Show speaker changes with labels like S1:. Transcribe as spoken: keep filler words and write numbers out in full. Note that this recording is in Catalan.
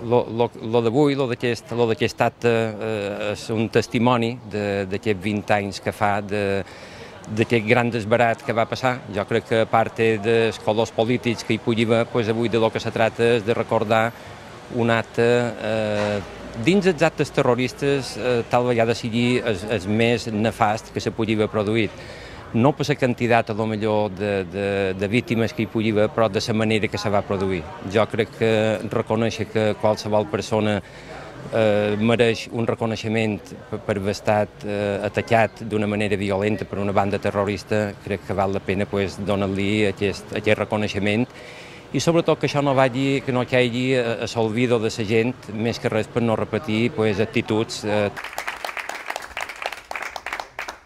S1: Lo d'avui, lo d'aquest acte, és un testimoni d'aquests vint anys que fa d'aquest gran desbarat que va passar. Jo crec que a part dels colors polítics que hi pugui haver, avui del que se tracta és de recordar un acte dins dels actes terroristes tal vegada sigui el més nefast que se pugui haver produït. No per la quantitat, a lo millor, de víctimes que hi pugui haver, però de la manera que se va produir. Jo crec que reconèixer que qualsevol persona mereix un reconeixement per haver estat atacat d'una manera violenta per una banda terrorista, crec que val la pena donar-li aquest reconeixement i sobretot que això no vagi, que no caigui a l'olvido de la gent, més que res per no repetir actituds